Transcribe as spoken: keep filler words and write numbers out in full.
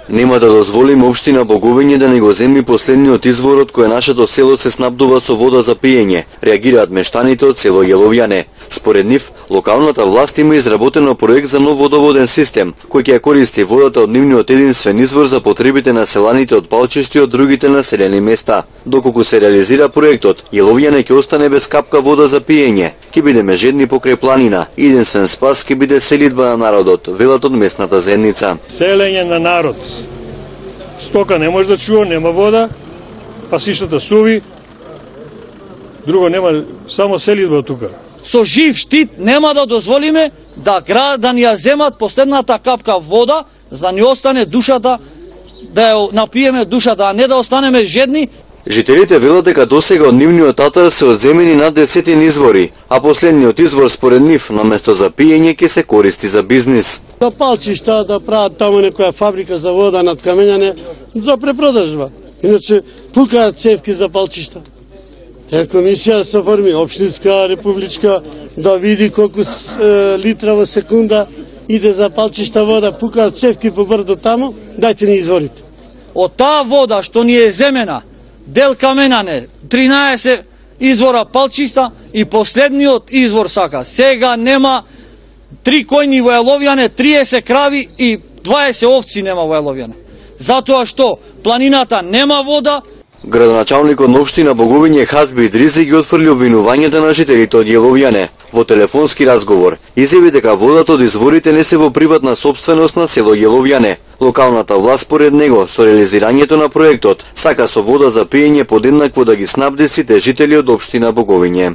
Нема да дозволиме општина Боговиње да не го земи последниот извор од кој нашето село се снабдува со вода за пиење, реагираат мештаните од село Јеловјане. Според нив, локалната власт има изработено проект за нов водоводен систем, кој ќе ја користи водата од нивниот единствен извор за потребите на селаните од Палчиште и од другите населени места. Доколку се реализира проектот, Јеловјане ќе остане без капка вода за пиење, ќе бидеме жедни покрај планина, единствен спас ќе биде селидба на народот, велат од местната заедница. Селење на народ. Стока не може да чува, нема вода, пасиштата суви, друго нема, само селидба тука. Со жив штит нема да дозволиме да град да ни ја земат последната капка вода, за да ни остане душата, да ја напиеме душата, а не да останеме жедни. Жителите велат дека досега од нивниот атар се одземени над десетин извори, а последниот извор според нив наместо за пиење ќе се користи за бизнис. За Палчишта да прават таму некоја фабрика за вода над камењане за препродажба. Иначе пукаат цевки за Палчишта. Таа комисија се форми општинска, републичка, да види колку е, литра во секунда иде за Палчишта вода, пукаат цевки по брдо таму, дајте ни изворите. Од таа вода што ни е земена, дел каменане, тринаесет извора Палчишта и последниот извор сака. Сега нема три којни во Јеловјане, триесет крави и дваесет овци нема во Јеловјане. Затоа што планината нема вода. Градоначалникот на општина Боговиње Хазби Идризи ги отфрли обвинувањата на жителите од Јеловјане. Во телефонски разговор изјави дека водата од изворите не се во приватна сопственост на село Јеловјане. Локалната власт според него со реализирањето на проектот сака со вода за пиење подеднакво да ги снабди сите жители од општина Боговиње.